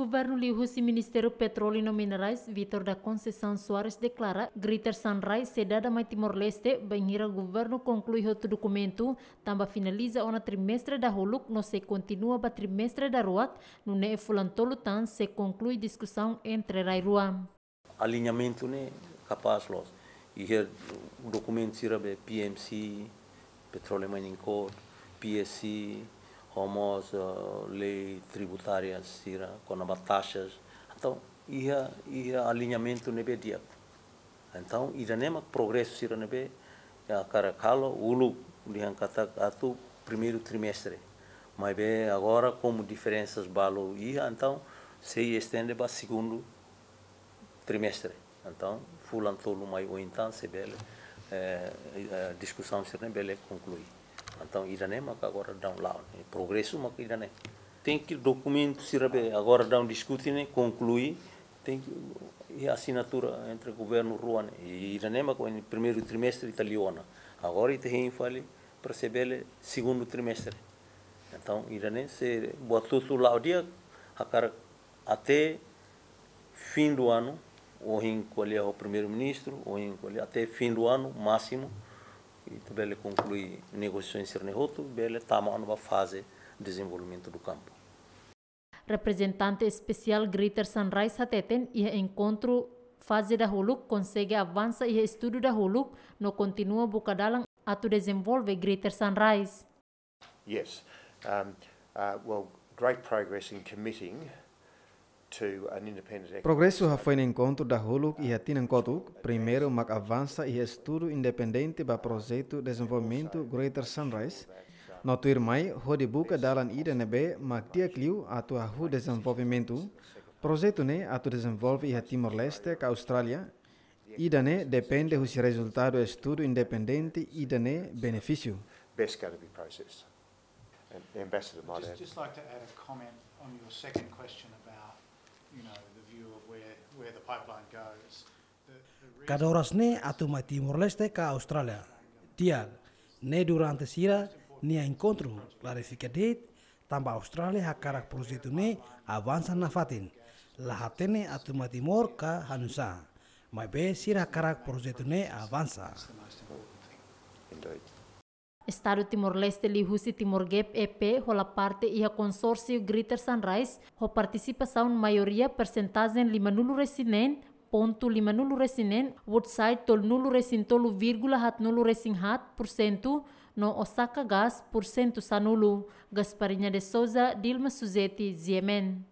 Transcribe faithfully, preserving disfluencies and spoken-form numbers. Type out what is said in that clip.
Governu liuhusi Ministériu Petróleu no Minerais, Vitor da Conceição Soares deklara, Greater Sunrise sei dada mai Timor-Leste, bainhira governu konklui hotu dokumentu, tanba finaliza ona trimestre dahuluk, no sei kontinua ba trimestre daruak, nune'e fulan tolu tan sei konklui diskusaun entre rai rua. Aliñamentu ne'e kapás loos. Iha dokumentu sira be P M C, Petroleum Mining Code, P S C, ho mós, eh, lei tributária sira, kona-ba taxas. Entaun, iha, iha aliñamentu ne'ebé di'ak. Entaun, ida-ne'e mak progresu sira ne'ebé, ya, hakarak halo, uluk dehan katak atu primeiru trimestre. Maibé agora, komu diferensas balu iha, entaun, sei estende ba segundu trimestre. Entaun, fulan tolu mai oin tan, se bele, eh, eh, diskusaun sira-ne'e bele konklui. Entaun, ida-ne'e maka agora daudaun la'o, ne'e, progresu maka ida-ne'e. Tenke dokumentu sira be agora daudaun diskute ne'e, konklui, tenke iha asinatura entre governu rua ne'e. I ida-ne'e maka oin primeiru trimestre ita liu ona. Agora ita hein fali para se bele segundu trimestre. Entaun, ida-ne'e se buat hotu la'o di'ak, hakarak até fim do ano, ohin ko'alia ho primeiru-ministru, ohin ko'alia até fim do ano, másimu, ita bele konklui negosiasaun sira-ne'e hotu, bele tama ona ba faze dezenvolvimentu do kampu. Reprezentante espesiál Greater Sunrise hateten, iha enkontru faze dahuluk konsege avansa iha estudu dahuluk, no kontinua buka dalan atu dezenvolve Greater Sunrise. Yes. Um, uh, well, great progress in committing to an independent economic Progresu hafoin enkontru dahuluk iha tinan kotuk, primeiru mak avansa iha estudu independente ba projetu dezenvolvimentu Greater Sunrise, no tuirmai hodi buka dalan ida ne'ebé mak di'ak liu atu hahú dezenvolvimentu. Projetu ne'e atu dezenvolve iha Timor-Leste ka Austrália, ida-ne'e depende husi rezultadu estudu independente ida-ne'e benefísiu. Best going to be processed. And Ambassador might Just, add. Just like to add a comment on your second question about, you know, the view of where, where the pipeline goes. The, the reason Kadoras ne'e atu mai Timor-Leste ka Austrália. Di'ak, ne'e durante sira-nia enkontru klarifika de'it, tanba Austrália hakarak projetu ne'e avansa nafatin. La hatene atu mai Timor ka hanusá. Maibé sira hakarak projetu ne'e avansa. Indeed. Estadu Timor-Leste liuhusi Timor Gap E P hola parte iha konsórsiu Greater Sunrise, ho partisipasaun maioria persentajen lima-nulu resin neen pontu lima-nulu resin neen, Woodside tolu-nulu resin tolu vírgula haat-nulu resin haat por sentu, no Osaka Gas por sentu sanulu. Gasparinha de Souza, Dilma Suzeti, G M N.